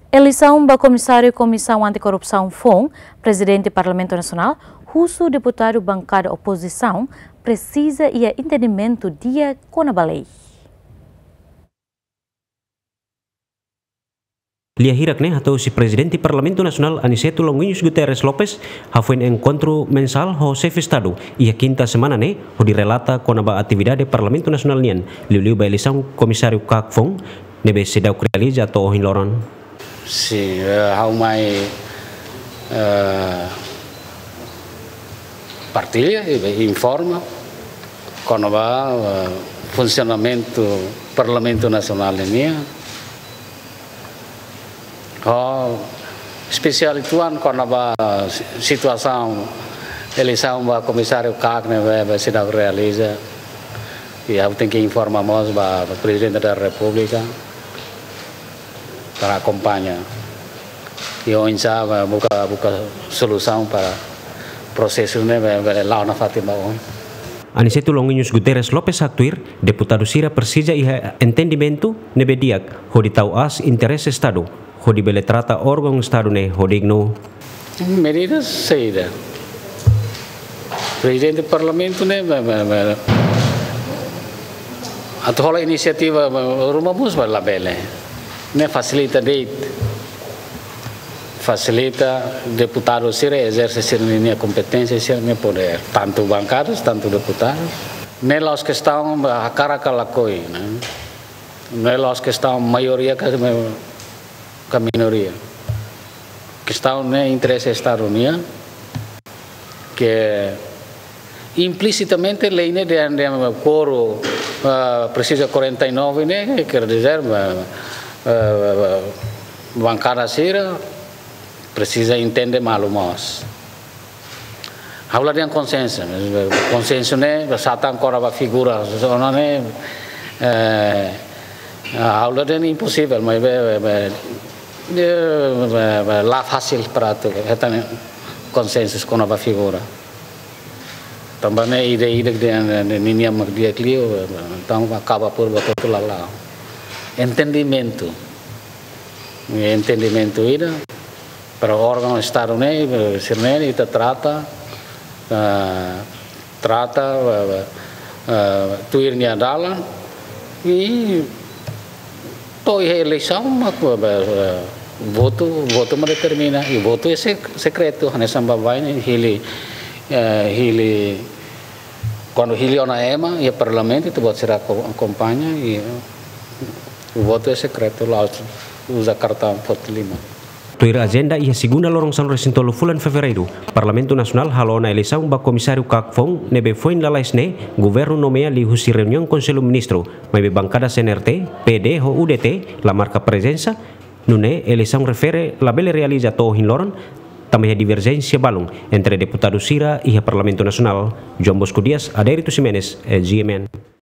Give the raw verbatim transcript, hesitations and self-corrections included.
Eleisaun ba Komisáriu Komisaun Anti-Korrupsaun foun, Prezidente Parlamentu Nasionál husu deputadu bankada opozisaun presiza iha entendimentu di'ak kona-ba lei. Lia hirak ne'e hato'o husi Prezidente Parlamentu Nasionál Aniceto Longuinhos Guterres Lopes hafoin enkontru mensál ho Xefe Estadu iha kinta semana ne'e, hodi relata kona-ba atividade Parlamentu Nasionál nian, liuliu ba eleisaun Komisáriu KAK foun ne'ebé seidauk realiza to'o ohin loron. Sin, eh, ha'u mai, eh, partilla, eh, informa kona-ba, eh, funsionamentu Parlamentu Nasionál nian. Ho espesiál uitoan kona-ba si-, situasaun eleisaun ba Komisáriu KAK ne'ebé, ne'ebé seidauk realiza. I ha'u tenke informa mós ba Prezidente da Repúblika para akompaña. I oinsá ba buka, buka solusaun para prosesu ne'ebé, ne'ebé la'o nafatin ba oin. Aniceto Longuinhos Guterres Lopes haktuir, deputadu sira presiza iha entendimentu ne'ebé di'ak hodi tau aas interese Estadu, hodi bele trata órgaun Estadu ne'e ho dignu. Medida saida? Prezidente Parlamentu ne'e, ba, ba, ba, atu hola inisiativa, ba, ruma bus ba labele. Ne'e fasilita de'it. Fasilita deputadu sira ezerse sira-nia kompeténsia, sira-nia podér. Tantu bankadas, tantu deputadu. Ne'e la'ós kestaun ba hakarak ka lakohi, ne'e. Ne'e la'ós kestaun maioria ka, ka minoria. Kestaun ne'e interese Estadu nian, ke implisitamente lei ne'e dehan, dehan quorum, ah, presiza quarenta e nove ne'e, quer dizer, ah, ah, bankada sira presiza entende malu mós. Ha'u la dehan konsensu, konsensu ne'e, ba satan kona-ba figura, zona ne'e, eh, ha'u la dehan imposivel, maibé, be, be, de, be, be, la fasil para atu hetan konsensu kona-ba figura. Tanba ne'e ida-idak dehan, dehan ninia mak di'ak liu, entaun akaba por ba hotu la la'o. Entendimentu. Entendimentu ida, para órgaun Estadu ne'e, sira-ne'e ita trata, ah, trata, ah, ah, tuir nia dalan, i to'o iha eleisaun mak, ah, ah, votu, votu mak determina, i votu é sek-, sekretu, hanesan baibain ne'e hili, eh, hili, kuandu hili ona ema iha Parlamentu, ita-boot sira ako-, akompaña, i votu é sekretu, la'ós uza kartaun foti liman. Tuir ajenda, iha segunda loron sanulu-resin-tolu fulan Fevereiru, Parlamentu Nasionál halo ona eleisaun ba Komisáriu KAK foun ne'ebé foin lalais ne'e governu nomeia liuhusi reuniaun Konsellu Ministru, maibé bankada C N R T, P D ho U D T la marka prezensa, nune'e eleisaun refere labele realiza to'o ohin loron, tanba iha diverjénsia balun entre deputadu sira iha Parlamentu Nasionál. João Bosco Dias, Adérito Ximenes, eh, G M N.